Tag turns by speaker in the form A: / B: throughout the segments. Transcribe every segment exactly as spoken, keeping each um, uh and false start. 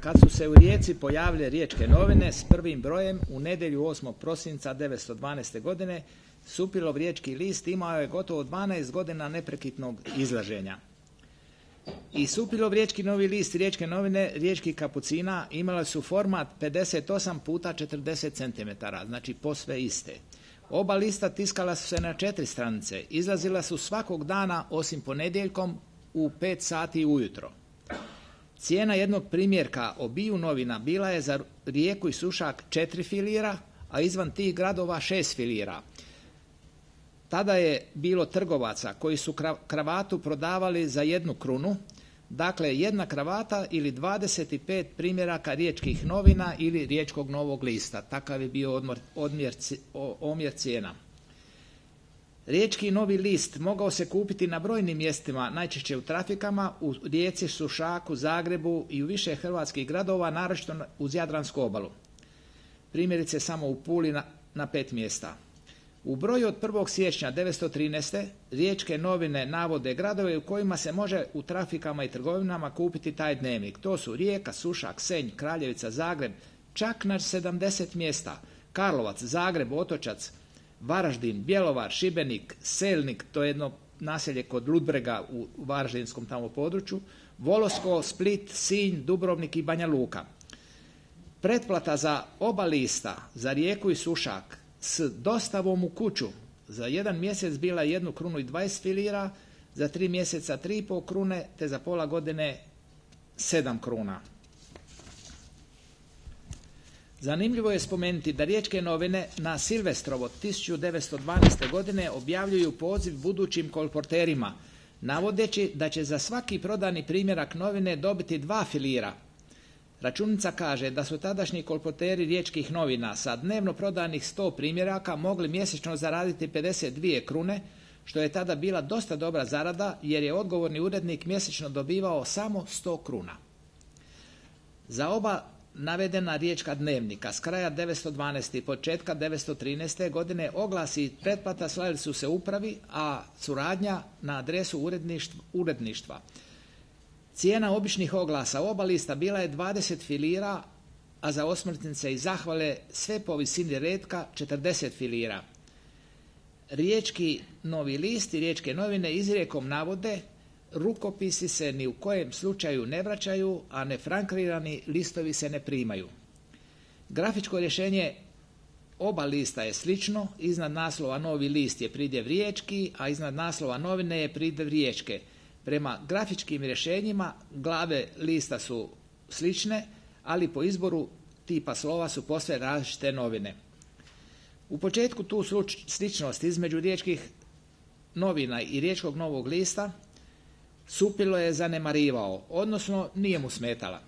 A: Kad su se u Rijeci pojavile Riječke novine s prvim brojem u nedjelju osmog prosinca devetsto dvanaeste. godine, Supilov Riječki list imao je gotovo dvanaest godina neprekidnog izlaženja. I Supilov Riječki novi list i Riječke novine Riječkih kapucina imale su format pedeset osam puta četrdeset centimetara, znači posve iste. Oba lista tiskala su se na četiri stranice, izlazila su svakog dana osim ponedjeljkom u pet sati ujutro. Cijena jednog primjerka obiju novina bila je za Rijeku i Sušak četiri filira, a izvan tih gradova šest filira. Tada je bilo trgovaca koji su kravatu prodavali za jednu krunu, dakle jedna kravata ili dvadeset pet primjeraka Riječkih novina ili Riječkog novog lista. Takav je bio odmor, odmjer, omjer cijena. Riječki novi list mogao se kupiti na brojnim mjestima, najčešće u trafikama, u Rijeci, Sušaku, Zagrebu i u više hrvatskih gradova, naročito uz Jadransku obalu. Primjerice samo u Puli na, na pet mjesta. U broju od prvog siječnja devetsto trinaeste. Riječke novine navode gradove u kojima se može u trafikama i trgovinama kupiti taj dnevnik. To su Rijeka, Sušak, Senj, Kraljevica, Zagreb, čak na sedamdeset mjesta. Karlovac, Zagreb, Otočac, Varaždin, Bjelovar, Šibenik, Selnik, to je jedno naselje kod Ludbrega u varaždinskom tamo području, Volosko, Split, Sinj, Dubrovnik i Banja Luka. Pretplata za oba lista, za Rijeku i Sušak, s dostavom u kuću za jedan mjesec bila jednu krunu i dvadeset filira, za tri mjeseca tri i pol krune, te za pola godine sedam kruna. Zanimljivo je spomenuti da Riječke novine na Silvestrovo tisuću devetsto dvanaeste. godine objavljuju poziv budućim kolporterima, navodeći da će za svaki prodani primjerak novine dobiti dva filira. Računica kaže da su tadašnji kolporteri Riječkih novina sa dnevno prodanih sto primjeraka mogli mjesečno zaraditi pedeset dvije krune, što je tada bila dosta dobra zarada jer je odgovorni urednik mjesečno dobivao samo sto kruna. Za oba navedena riječka dnevnika s kraja devetsto dvanaeste. i početka devetsto trinaeste. godine oglasi i pretplata slali su se upravi, a suradnja na adresu uredništva. uredništva. Cijena običnih oglasa oba lista bila je dvadeset filira, a za osmrtnice i zahvale sve po visini retka četrdeset filira. Riječki novi list i Riječke novine izrijekom navode: rukopisi se ni u kojem slučaju ne vraćaju, a nefrankrirani listovi se ne primaju. Grafičko rješenje oba lista je slično, iznad naslova novi list je pridjev riječki, a iznad naslova novine je pridjev riječke. Prema grafičkim rješenjima glave lista su slične, ali po izboru tipa slova su posve različite novine. U početku tu sličnost između Riječkih novina i Riječkog novog lista Supilo je zanemarivao, odnosno nije mu smetala.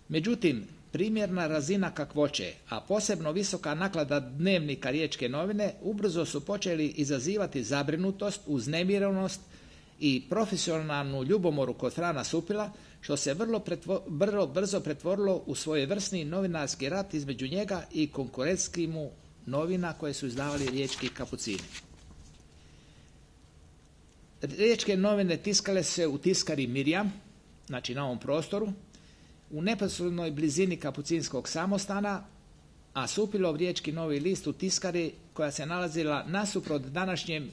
A: Međutim, primjerna razina kakvoće, a posebno visoka naklada dnevnika Riječke novine, ubrzo su počeli izazivati zabrinutost, uznemirenost i profesionalnu ljubomoru kod Frana Supila, što se vrlo, pretvo, vrlo brzo pretvorilo u svojevrsni novinarski rat između njega i konkurentskih mu novina koje su izdavali Riječki kapucini. Riječke novine tiskale se u tiskari Mirjam, znači na ovom prostoru, u neposrednoj blizini kapucinskog samostana, a Supilov Riječki novi list u tiskari koja se nalazila nasuprot današnjem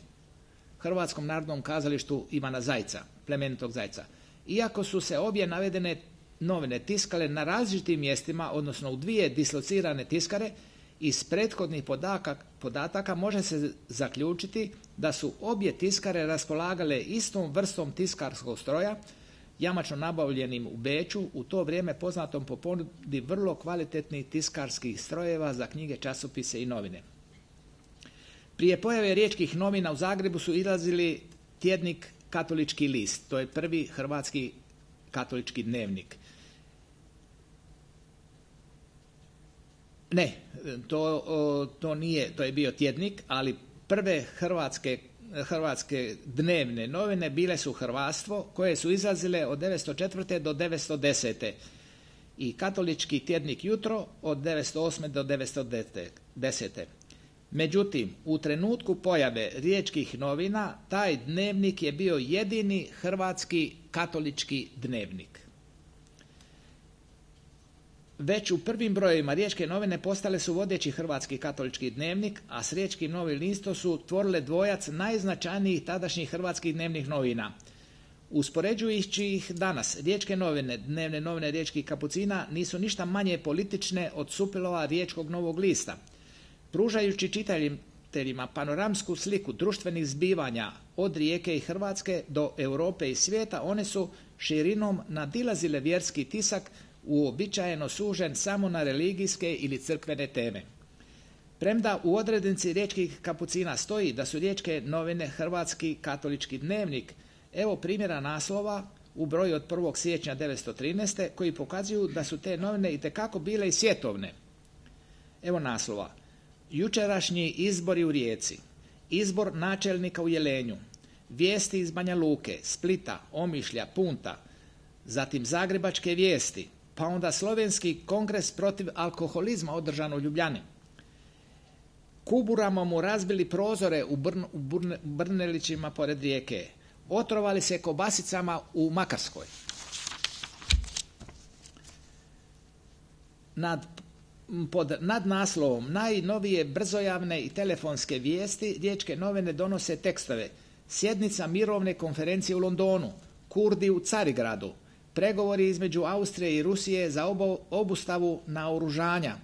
A: Hrvatskom narodnom kazalištu Ivana Zajca, plemenitog Zajca. Iako su se obje navedene novine tiskale na različitim mjestima, odnosno u dvije dislocirane tiskare, iz prethodnih podataka, podataka može se zaključiti da su obje tiskare raspolagale istom vrstom tiskarskog stroja, jamačno nabavljenim u Beču, u to vrijeme poznatom po ponudi vrlo kvalitetnih tiskarskih strojeva za knjige, časopise i novine. Prije pojave Riječkih novina u Zagrebu su izlazili tjednik Katolički list, to je prvi hrvatski katolički dnevnik. Ne, to, to nije, to je bio tjednik, ali prve hrvatske, hrvatske dnevne novine bile su Hrvatstvo, koje su izlazile od devetsto četvrte. do devetsto desete. i katolički tjednik Jutro od devetsto osme. do devetsto desete. Međutim, u trenutku pojave Riječkih novina, taj dnevnik je bio jedini hrvatski katolički dnevnik. Već u prvim brojevima Riječke novine postale su vodeći hrvatski katolički dnevnik, a s Riječkim novim listom su tvorile dvojac najznačajnijih tadašnjih hrvatskih dnevnih novina. Uspoređujući ih danas, Riječke novine, dnevne novine Riječkih kapucina, nisu ništa manje politične od supilova Riječkog novog lista. Pružajući čitateljima panoramsku sliku društvenih zbivanja od Rijeke i Hrvatske do Europe i svijeta, one su širinom nadilazile vjerski tisak, uobičajeno sužen samo na religijske ili crkvene teme. Premda u odrednici Riječkih kapucina stoji da su Riječke novine hrvatski katolički dnevnik, evo primjera naslova u broju od prvog siječnja devetsto trinaeste koji pokazuju da su te novine itekako bile i svjetovne. Evo naslova. Jučerašnji izbori u Rijeci, izbor načelnika u Jelenju, vijesti iz Banja Luke, Splita, Omišlja, Punta, zatim zagrebačke vijesti, pa onda slovenski kongres protiv alkoholizma održan u Ljubljani. Kuburama mu razbili prozore u, Brn, u Brn, Brnelićima pored rijeke. Otrovali se kobasicama u Makarskoj. Nad, pod nadnaslovom najnovije brzojavne i telefonske vijesti Riječke novine donose tekstove: sjednica mirovne konferencije u Londonu, Kurdi u Carigradu, pregovori između Austrije i Rusije za obo, obustavu naoružanja.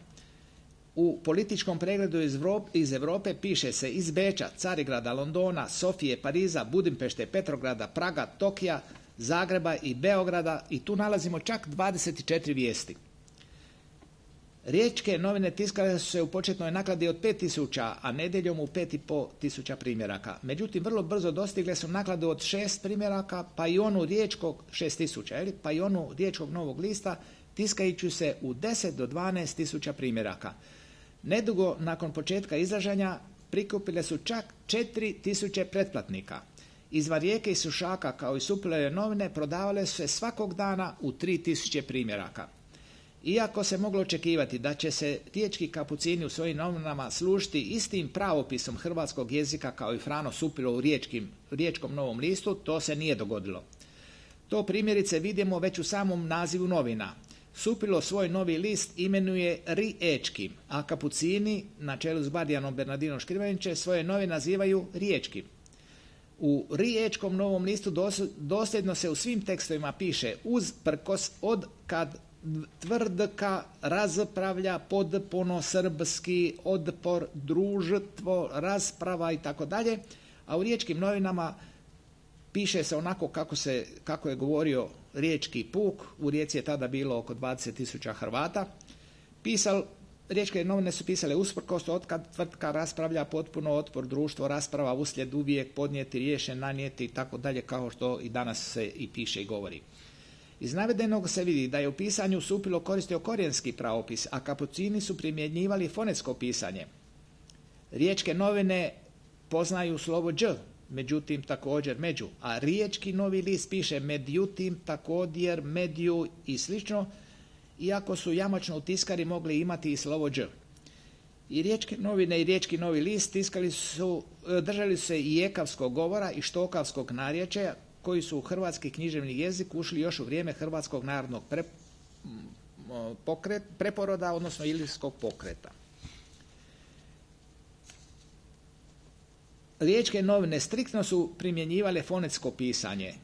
A: U političkom pregledu iz, iz Europe piše se iz Beča, Carigrada, Londona, Sofije, Pariza, Budimpešte, Petrograda, Praga, Tokija, Zagreba i Beograda, i tu nalazimo čak dvadeset četiri vijesti. Riječke novine tiskale su se u početnoj nakladi od pet tisuća, a nedjeljom u pet i pol tisuća primjeraka. Međutim, vrlo brzo dostigle su nakladu od šest primjeraka, pa i onu riječkog šest tisuća, pa i onu Riječkog novog lista, tiskajući se u deset do dvanaest tisuća primjeraka. Nedugo nakon početka izlaženja prikupile su čak četiri tisuće pretplatnika. Izvan Rijeke i Sušaka, kao i supilove novine, prodavale su se svakog dana u tri tisuće primjeraka. Iako se moglo očekivati da će se riječki kapucini u svojim novinama služiti istim pravopisom hrvatskog jezika kao i Frano Supilo u riječkim, Riječkom novom listu, to se nije dogodilo. To primjerice vidimo već u samom nazivu novina. Supilo svoj novi list imenuje Riječkim, a kapucini, na čelu s Bardijanom Bernardinom Škrivanićem, svoje novine nazivaju Riječkim. U Riječkom novom listu dosljedno se u svim tekstovima piše uz prkos od kad tvrdka razpravlja podpono srpski odpor društvo rasprava i tako dalje, a u Riječkim novinama piše se onako kako, se, kako je govorio riječki puk. U Rijeci je tada bilo oko dvadeset tisuća Hrvata. Pisal, Riječke novine su pisale usprkos od kad tvrtka raspravlja potpuno otpor društvo rasprava uslijed uvijek podnijeti, riješen, nanijeti i tako dalje, kao što i danas se i piše i govori. Iz navedenog se vidi da je u pisanju Supilo koristio korijenski pravopis, a kapucini su primjenjivali fonetsko pisanje. Riječke novine poznaju slovo đ, međutim također među, a Riječki novi list piše međutim, također, mediju i slično, iako su jamačno u tiskari mogli imati i slovo đ. I Riječke novine i Riječki novi list tiskali su, držali su se i ekavskog govora i štokavskog narječja, koji su u hrvatski književni jezik ušli još u vrijeme Hrvatskog narodnog pre, pokret, preporoda, odnosno Ilirskog pokreta. Riječke novine striktno su primjenjivale fonetsko pisanje,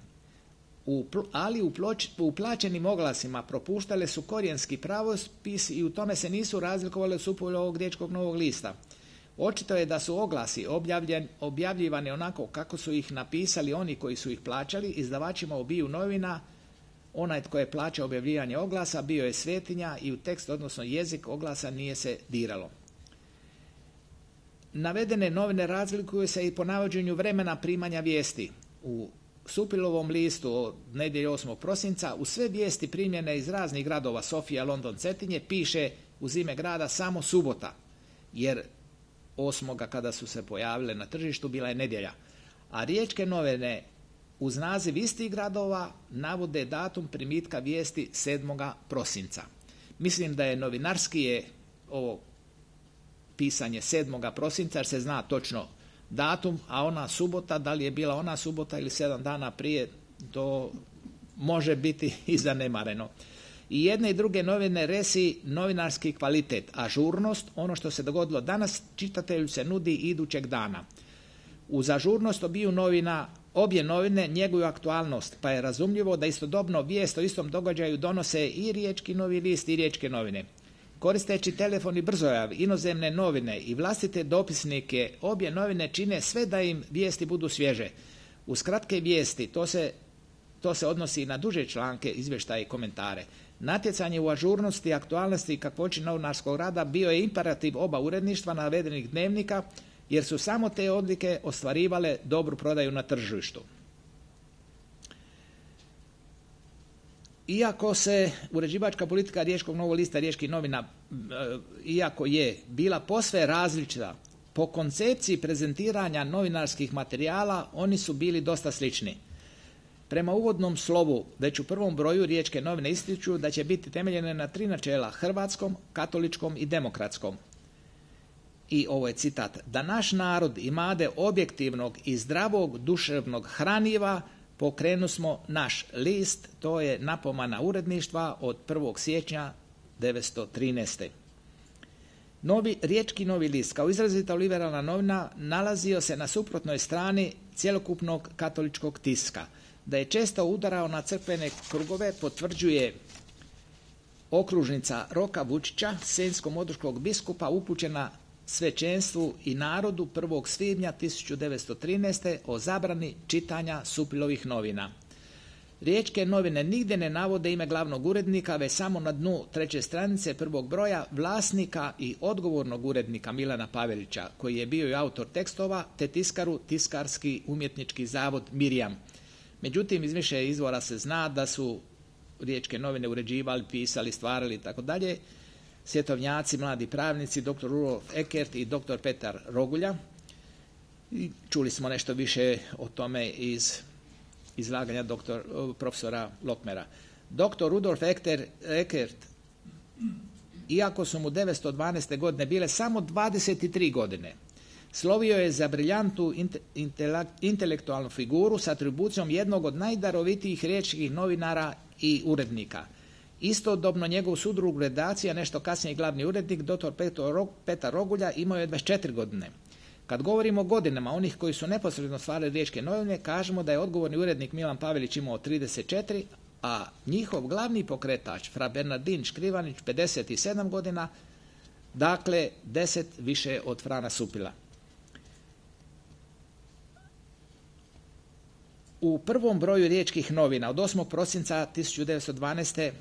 A: u, ali u, ploč, u plaćenim oglasima propuštale su korijenski pravopis i u tome se nisu razlikovale od Supilovog Riječkog novog lista. Očito je da su oglasi objavljivani onako kako su ih napisali oni koji su ih plaćali. Izdavačima obiju novina, onaj tko je plaćao objavljivanje oglasa bio je svetinja i u tekst, odnosno jezik oglasa, nije se diralo. Navedene novine razlikuju se i po navođenju vremena primanja vijesti. U Supilovom listu od nedjelje osmog prosinca u sve vijesti primljene iz raznih gradova Sofija, London, Cetinje piše uz ime grada samo subota, jer osmoga kada su se pojavile na tržištu bila je nedjelja. A Riječke novine uz naziv istih gradova navode datum primitka vijesti sedmoga prosinca. Mislim da je novinarski je ovo pisanje sedmoga prosinca jer se zna točno datum, a ona subota, da li je bila ona subota ili sedam dana prije, to može biti i zanemareno. I jedne i druge novine resi novinarski kvalitet, ažurnost, ono što se dogodilo danas, čitatelju se nudi idućeg dana. Uz ažurnost obiju novina, obje novine njeguju aktualnost, pa je razumljivo da istodobno vijest o istom događaju donose i Riječki novi list i Riječke novine. Koristeći telefon i brzojav, inozemne novine i vlastite dopisnike, obje novine čine sve da im vijesti budu svježe. Uz kratke vijesti, to se, to se odnosi i na duže članke, izvještaje i komentare. Natjecanje u ažurnosti, aktualnosti i kakvoći novinarskog rada bio je imperativ oba uredništva navedenih dnevnika, jer su samo te odlike ostvarivale dobru prodaju na tržištu. Iako se uređivačka politika Riječkog novog lista, Riječkih novina, iako je bila posve različita po koncepciji prezentiranja novinarskih materijala, oni su bili dosta slični. Prema uvodnom slovu, već u prvom broju Riječke novine ističu da će biti temeljene na tri načela: hrvatskom, katoličkom i demokratskom. I ovo je citat: da naš narod imade objektivnog i zdravog duševnog hraniva, pokrenu smo naš list, to je napomena uredništva od prvog siječnja devetsto trinaeste. Novi, Riječki novi list, kao izrazito liberalna novina, nalazio se na suprotnoj strani cjelokupnog katoličkog tiska. Da je često udarao na crkvene krugove potvrđuje okružnica Roka Vučića, senjsko-modriškog biskupa, upućena svećenstvu i narodu prvog svibnja tisuću devetsto trinaeste o zabrani čitanja Supilovih novina. Riječke novine nigdje ne navode ime glavnog urednika, već samo na dnu treće stranice prvog broja vlasnika i odgovornog urednika Milana Pavelića, koji je bio i autor tekstova, te tiskaru Tiskarski umjetnički zavod Mirjam. Međutim, iz više izvora se zna da su Riječke novine uređivali, pisali, stvarali i tako dalje svjetovnjaci, mladi pravnici, doktor Rudolf Eckert i doktor Petar Rogulja. I čuli smo nešto više o tome iz izlaganja doktor, profesora Lokmera. Doktor Rudolf Eckert, iako su mu devetsto dvanaeste. godine bile samo dvadeset tri godine, slovio je za briljantnu intelektualnu figuru s atribucijom jednog od najdarovitijih riječkih novinara i urednika. Istodobno njegov sudrug redakcija, nešto kasnije glavni urednik, doktor Petar Rogulja, imao je dvadeset četiri godine. Kad govorimo o godinama onih koji su neposredno stvarali Riječke novine, kažemo da je odgovorni urednik Milan Pavelić imao trideset četiri, a njihov glavni pokretač, fra Bernardin Škrivanić, pedeset sedam godina, dakle deset više od Frana Supila. U prvom broju Riječkih novina od osmog prosinca tisuću devetsto dvanaeste.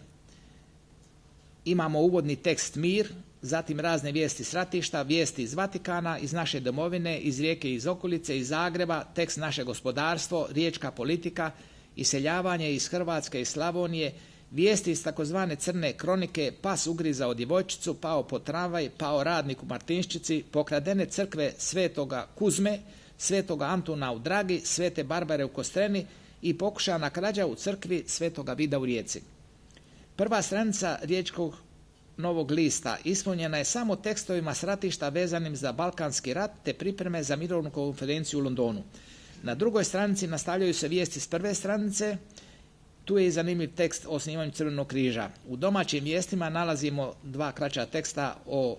A: imamo uvodni tekst Mir, zatim razne vijesti s ratišta, vijesti iz Vatikana, iz naše domovine, iz Rijeke i iz okolice, iz Zagreba, tekst Naše gospodarstvo, Riječka politika, iseljavanje iz Hrvatske i Slavonije, vijesti iz takozvane crne kronike, pas ugrizao djevojčicu, pao po tramvaj, pao radnik u Martinščici, pokradene crkve Svetoga Kuzme, Svetoga Antuna u Dragi, Svete Barbare u Kostreni i pokušana krađa u crkvi Svetoga Vida u Rijeci. Prva stranica Riječkog novog lista ispunjena je samo tekstovima s ratišta vezanim za Balkanski rat te pripreme za mirovnu konferenciju u Londonu. Na drugoj stranici nastavljaju se vijesti s prve stranice. Tu je i zanimljiv tekst o osnivanju Crvenog križa. U domaćim vijestima nalazimo dva kraća teksta o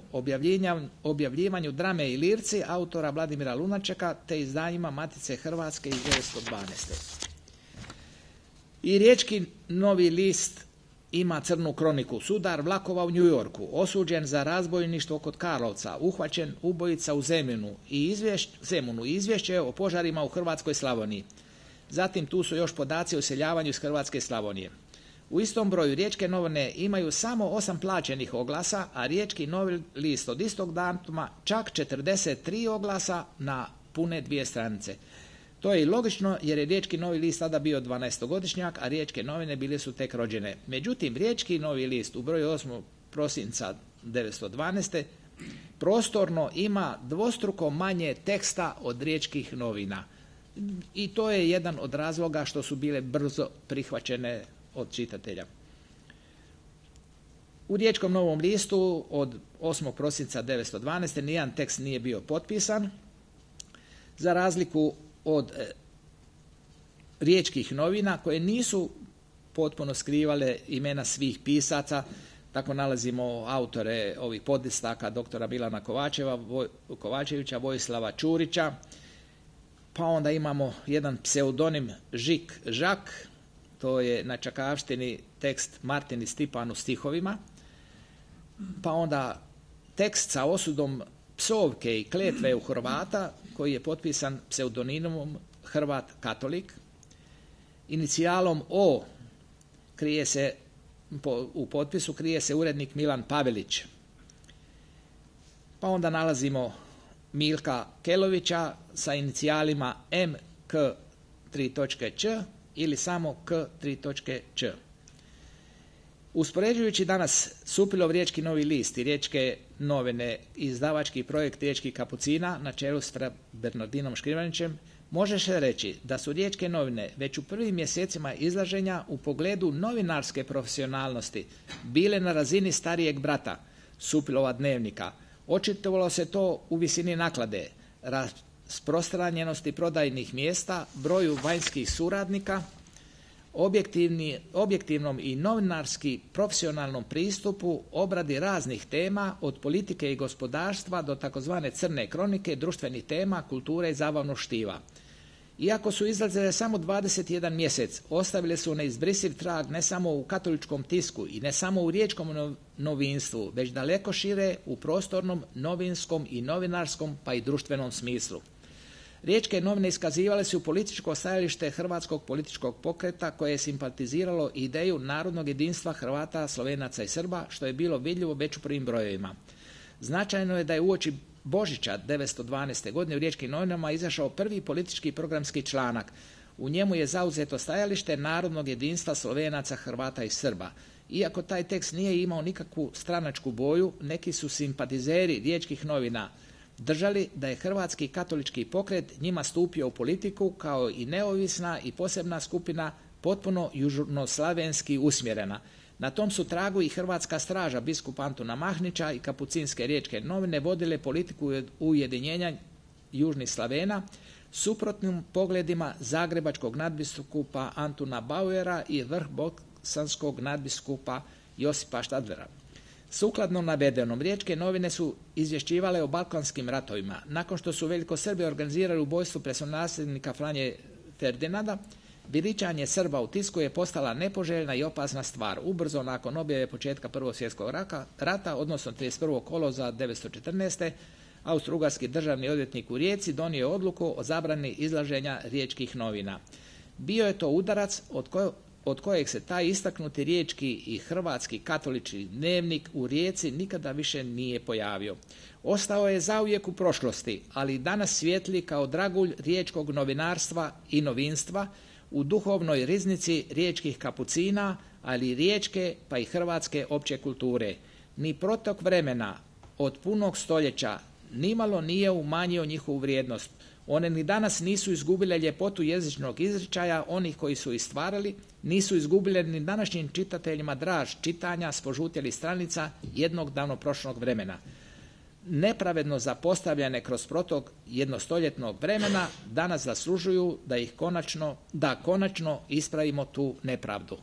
A: objavljivanju drame i lirci autora Vladimira Lunačeka te izdanjima Matice Hrvatske iz devetsto dvanaeste. I Riječki novi list ima crnu kroniku. Sudar vlakova u New Yorku, osuđen za razbojništvo kod Karlovca, uhvaćen ubojica u Zemunu i izvješće, Zemunu, izvješće o požarima u Hrvatskoj Slavoniji. Zatim tu su još podaci o iseljavanju iz Hrvatske Slavonije. U istom broju Riječke novine imaju samo osam plaćenih oglasa, a Riječki novi list od istog datuma čak četrdeset tri oglasa na pune dvije stranice. To je i logično jer je Riječki novi list tada bio dvanaestogodišnjak, a Riječke novine bile su tek rođene. Međutim, Riječki novi list u broju osmog prosinca devetsto dvanaeste. prostorno ima dvostruko manje teksta od Riječkih novina. I to je jedan od razloga što su bile brzo prihvaćene od čitatelja. U Riječkom novom listu od osmog prosinca devetsto dvanaeste. nijedan tekst nije bio potpisan, za razliku od e, Riječkih novina koje nisu potpuno skrivale imena svih pisaca. Tako nalazimo autore ovih podlistaka doktora Milana Kovačeva, Voj, Kovačevića, Vojislava Čurića, pa onda imamo jedan pseudonim Žik Žak, to je na čakavštini tekst Martini Stipan u stihovima, pa onda tekst sa osudom psovke i kletve u Hrvata koji je potpisan pseudonimom Hrvat Katolik. Inicijalom O krije se, po, u potpisu krije se urednik Milan Pavelić. Pa onda nalazimo Milka Kelovića sa inicijalima M K tri točke Č ili samo K tri točke Č. Uspoređujući danas Supilov Riječki Novi list i Riječke novine, izdavački projekt Riječkih kapucina na čelu s fra Bernardinom Škrivanićem, može se reći da su Riječke novine već u prvim mjesecima izlaženja u pogledu novinarske profesionalnosti bile na razini starijeg brata, Supilova dnevnika. Očitovalo se to u visini naklade, rasprostranjenosti prodajnih mjesta, broju vanjskih suradnika, objektivnom i novinarski profesionalnom pristupu obradi raznih tema od politike i gospodarstva do takozvane crne kronike, društvenih tema, kulture i zabavnog štiva. Iako su izlazile samo dvadeset jedan mjesec, ostavile su neizbrisiv trag ne samo u katoličkom tisku i ne samo u riječkom novinstvu, već daleko šire u prostornom, novinskom i novinarskom pa i društvenom smislu. Riječke novine iskazivale su političko stajalište hrvatskog političkog pokreta koje je simpatiziralo ideju narodnog jedinstva Hrvata, Slovenaca i Srba, što je bilo vidljivo već u prvim brojevima. Značajno je da je uoči Božića devetsto dvanaeste. godine u Riječkim novinama izašao prvi politički programski članak. U njemu je zauzeto stajalište narodnog jedinstva Slovenaca, Hrvata i Srba. Iako taj tekst nije imao nikakvu stranačku boju, neki su simpatizeri Riječkih novina držali da je hrvatski katolički pokret njima stupio u politiku kao i neovisna i posebna skupina potpuno južnoslavenski usmjerena. Na tom su tragu i Hrvatska straža biskupa Antuna Mahnića i kapucinske Riječke novine vodile politiku ujedinjenja južnih Slavena suprotnim pogledima zagrebačkog nadbiskupa Antuna Bauera i vrhbosanskog nadbiskupa Josipa Štadlera. Sukladno navedenom, Riječke novine su izvješćivale o balkanskim ratovima. Nakon što su velikosrbi organizirali ubojstvo predsjednika Franje Ferdinanda, veličanje Srba u tisku je postala nepoželjna i opasna stvar. Ubrzo nakon objave početka Prvog svjetskog rata, odnosno trideset prvog kolovoza devetsto četrnaeste. Austro-ugarski državni odvjetnik u Rijeci donio je odluku o zabrani izlaženja Riječkih novina. Bio je to udarac od koje od kojeg se taj istaknuti riječki i hrvatski katolički dnevnik u Rijeci nikada više nije pojavio. Ostao je zauvijek u prošlosti, ali danas svijetli kao dragulj riječkog novinarstva i novinstva u duhovnoj riznici riječkih kapucina, ali i riječke pa i hrvatske opće kulture. Ni protok vremena od punog stoljeća nimalo nije umanjio njihovu vrijednost. One ni danas nisu izgubile ljepotu jezičnog izričaja onih koji su ih stvarali, nisu izgubile ni današnjim čitateljima draž čitanja s požutjelih stranica jednog davno prošlog vremena. Nepravedno zapostavljene kroz protok jednostoljetnog vremena danas zaslužuju da ih konačno, da konačno ispravimo tu nepravdu.